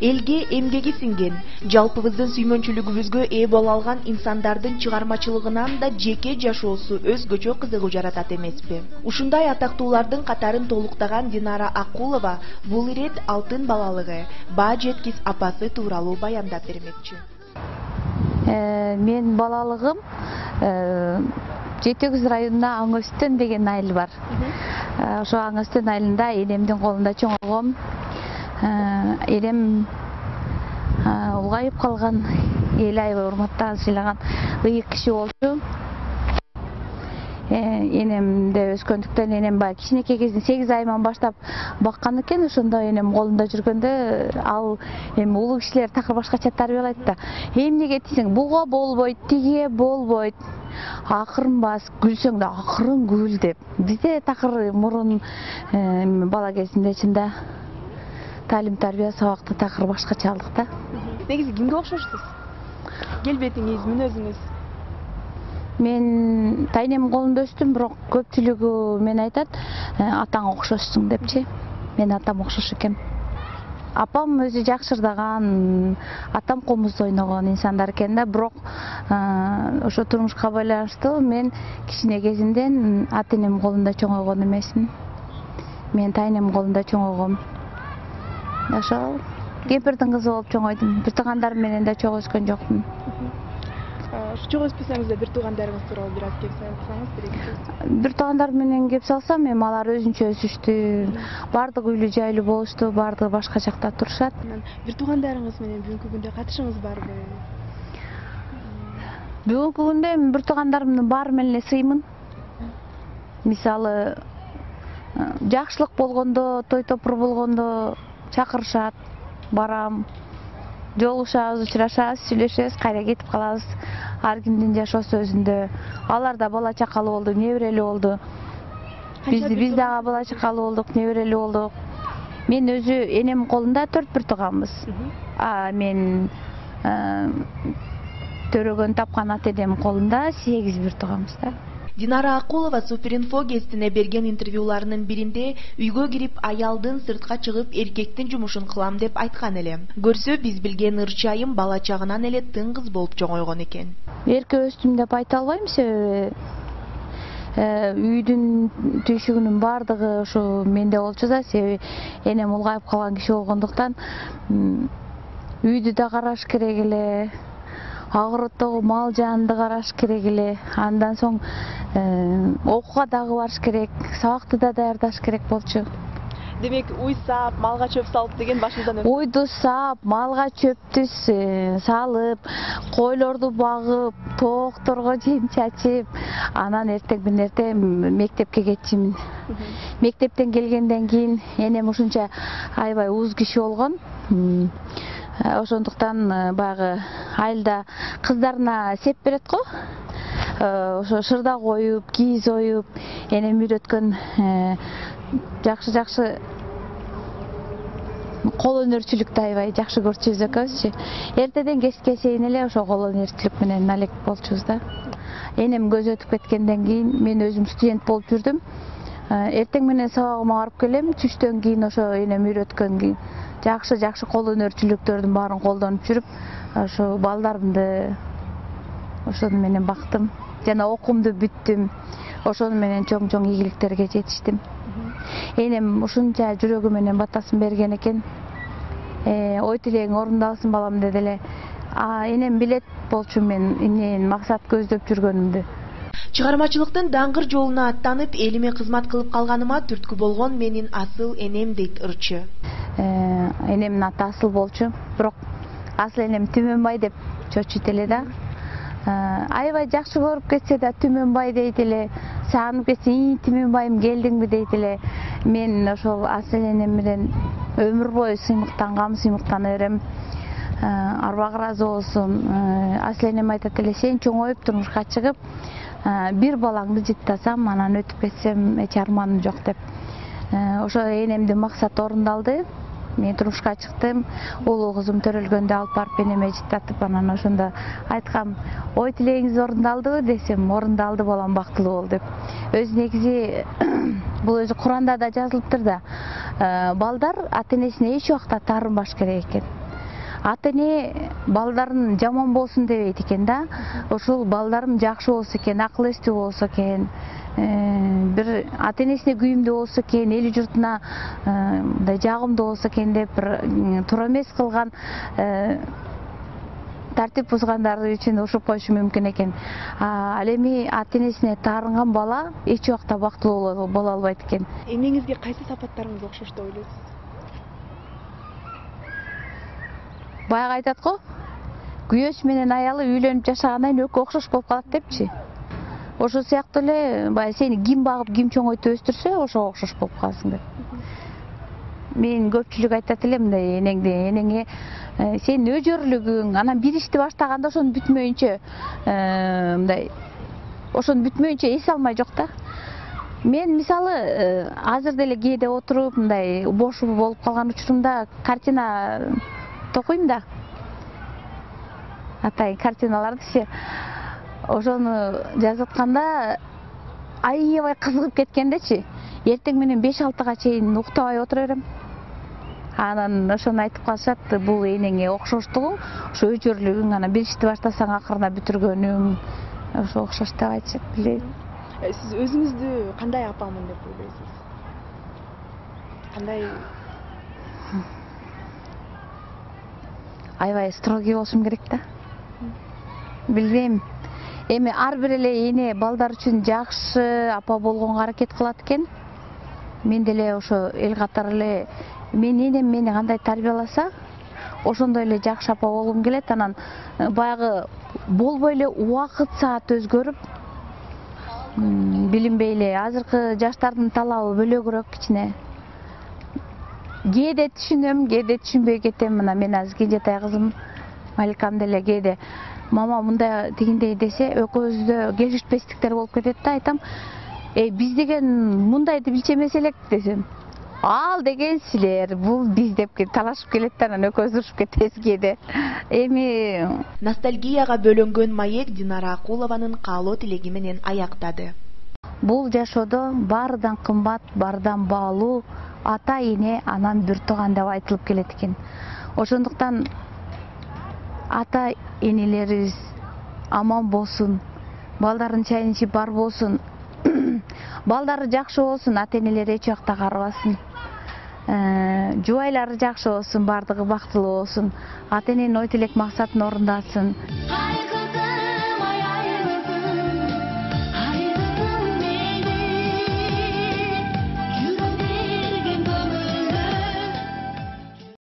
элге эмгеги сиңген, жалпыбыздын сүймөнчүлүгүбүзгө ээ боло алган инсандардын чыгармачылыгынан да жеке жашоосу өзгөчө кызыгуу жаратат эмеспи? Ушундай атактуулардын катарын толуктаган Динара Акулова бул ирет алтын балалыгы, баа жеткис апасы тууралуу баяндап бермекчи. Мен балалыгым Жети Көз районунда Аң Өстөн деген айыл бар. Ошо Аң Өстөн айылында энемдин колунда чоңойгом. Энем улгайып калган, эл аябай урматтаган, сыйлаган ыйык киши болчу. Энемде өскөндүктөн энем баягы кичинекей кезинен 8 айыман баштап баккан экен. Ошондо энем колунда жүргөндө ал эми улуу кишилер такыр башкача тарбиялайт да. Эмнеге тийсең, буга болбойт, тиге болбойт. Акырын бас, күлсөң да акырын күл деп. Бизде такыр мурун бала кезимде чында талим тарбия сабакты такыр башкача алдык да. Негизи кимге окшошсуз? Келбетиңиз, мүнөзүңүз? Мен тайнем колунда өстүм, бирок көпчүлүгү мен айтат, атаңа окшошсуң депчи. Мен атам окшош экен. Апам өзү жакшырдаган, атам комузда ойногон инсандар экен да, бирок ошо турмушка байланыштуу мен кичине кезимден ата энем колунда чоңойгон эмесмин. Мен тайнем колунда чоңойгом. Ошо кемпирдин кызы болуп чоңойдум. Бир туугандарым менен да чогуу өскөн жокмун. Чогуу өспөсөңүз да бир туугандарыңыз тууралуу бир аз кеп салсаңыз берекет. Бир туугандарым менен кеп салсам, эми алар өзүнчө өсүштү. Бардыгы үйлүү жайлуу болушту, бардыгы башка жакта турушат. Бир туугандарыңыз менен бүгүнкү күндө катышыңыз барбы? Бүгүнкү күндө бир туугандарымдын баары менен эле сыймын. Мисалы, жакшылык болгондо, той топур болгондо чакырышат, барам. Жолугушабыз, учурашабыз, сүйлөшөбүз, кайра кетип калабыз. Ар кимдин жашоосу өзүндө. Алар да бала чакалуу болду, неберелүү болду. Биз дагы бала чакалуу болдук, неберелүү болдук. Мен өзү энем колунда 4 бир тууганбыз. Мен төрөгөн тапкан ата энем колунда 8 бир тууганбыз да. Динара Акулова Суперинфо гезитине берген интервьюларынын биринде үйгө кирип аялдын сыртка чыгып эркектин жумушун кылам деп айткан эле. Көрсө биз билген ырчы айым бала чагынан эле тың кыз болуп чоңойгон экен. Эрке өстүм деп айта албайм, себеби үйдүн түйшүгүнүн бардыгы ошо менде болчу да, себеби энем улгайып калган киши болгондуктан үйдү да караш керек эле. Агороттогу мал жанды караш керек эле. Андан соң окууга дагы барыш керек, сабакты да даярдаш керек болчу. Демек, уй саап, малга чөп салып деген башыңыздан өтүп? Уйду саап, малга чөптү салып, койлорду багып, тоокторго жем чачып, анан эртең мектепке кетчүмүн. Мектептен келгенден кийин энем ушунча аябай уз киши болгон. Ошондуктан баягы айылда кыздарына сеп берет го. Ошо шырда коюп, кийиз оюп, энем үйрөткөн жакшы кол өнөрчүлүктү аябай жакшы көрчүбүз экөөбүзчү. Эртеден кечке чейин эле ошо кол өнөрчүлүк менен алек болчубуз да. Энем көз өтүп кеткенден кийин мен өзүм студент болуп жүрдүм. Эртең менен сабагыма барып келем, түштөн кийин ошо энем үйрөткөн жакшы кол өнөрчүлүктөрдүн баарын колдонуп жүрүп, ошо балдарымды ошону менен бактым. Жана окуумду бүттүм. Ошону менен чоң ийгиликтерге жетиштим. Энем ушунча жүрөгү менен батасын берген экен. Ой тилең орундалсын балам деди эле. Энем билет болчу мен эмнени максат көздөп жүргөнүмдү. Чыгармачылыктын даңгыр жолуна аттанып, элиме кызмат кылып калганыма түрткү болгон менин асыл энем дейт ырчы. Энемдин аты Асыл болчу, бирок Асыл энем Түмөнбай деп чочуйт эле да. Аябай жакшы көрүп кетсе да Түмөнбай дейт эле, сагынып кетсе Түмөнбайым келдиңби дейт эле. Мен ошол Асыл энем менен өмүр бою сыймыктана берем. Арбагы ыраазы болсун. Асыл энем айтат эле, сен чоңоюп турмушка чыгып, бир балаңды жыттасам, анан өтүп кетсем эч арманым жок деп. Ошо энемдин максаты орундалды. Мен турмушка чыктым, улуу кызым төрөлгөндө алып барып энеме жыттатып, анан ошондо айткам, ой тилегиңиз орундалдыбы десем, орундалды балам, бактылуу бол деп. Өзү негизи бул өзү Куранда да жазылыптыр да. Балдар ата энесине эч убакта таарынбаш керек экен. ата эне балдарын жаман болсун дебейт экен да. Ошол балдарым жакшы болсо экен, акыл эстүү болсо экен, бир ата энесине күйүмдүү болсо экен, эл журтуна мындай жагымдуу болсо экен деп бир туура эмес кылган, тартип бузгандары үчүн ушуп коюшу мүмкүн экен. Ал эми ата энесине таарынган бала эч убакта бактылуу боло албайт экен. Эмеңизге кайсы сапаттарыңыз окшош деп ойлойсуз? Баягы айтат го, күйөөсү менен аялы үйлөнүп жашагандан кийин экөө окшош болуп калат депчи. Ошол сыяктуу эле баягы сени ким багып, ким чоңойтуп өстүрсө, ошого окшош болуп каласың деп. Мен көпчүлүк айтат эле мындай энеңе сенин өжөрлүгүң, анан бир ишти баштаганда ошону бүтмөйүнчө мындай ошону бүтмөйүнчө эс алмай жок да. Мен мисалы азыр деле кээде отуруп мындай бош болуп калган учурумда картина токуйм да. Атайын картиналардычы. Ошону жазып атканда аябай кызыгып кеткендечи. Эртең менен 5-6-га чейин уктабай отура берем. Анан ошону айтып калышат, бул энеңе окшоштугуң, ошо өжөрлүгүң, анан бир ишти баштасаң акырына бүтүргөнүң, ошо окшош деп айтышат, билбейм. Сиз өзүңүздү кандай апамын деп ойлойсуз? Кандай? Аябай строгий болушум керек да. Билбейм. Эми ар бир эле эне балдар үчүн жакшы апа болгонго аракет кылат экен. Мен деле ошо эл катары эле мен энем мени кандай тарбияласа, ошондой эле жакшы апа болгум келет. Анан баягы болбой эле убакыт саат өзгөрүп, билинбей эле азыркы жаштардын талабы бөлөгүрөөк кичине. Кээде түшүнөм, кээде түшүнбөй кетем. Мына мен азыр кенжетай кызым Маликам деле кээде мама мындай тигиндей десе, экөөбүздө келишпестиктер болуп кетет да. Айтам, биз деген мындайды билчү эмес элек десем, ал деген силер, бул биз деп талашып келет да, анан экөөбүз урушуп кетебиз кээде. Эми ностальгияга бөлөнгөн маек Динара Акулованын каалоо тилеги менен аяктады. Бул жашоодо баарыдан кымбат, баарыдан баалуу ата эне, анан бир тууган деп айтылып келет экен. Ошондуктан ата энелерибиз аман болсун, балдарын чайын ичип бар болсун, балдары жакшы болсун, ата энелери эч убакта карыбасын, жубайлары жакшы болсун, бардыгы бактылуу болсун, ата эненин ой тилек максатын орундасын.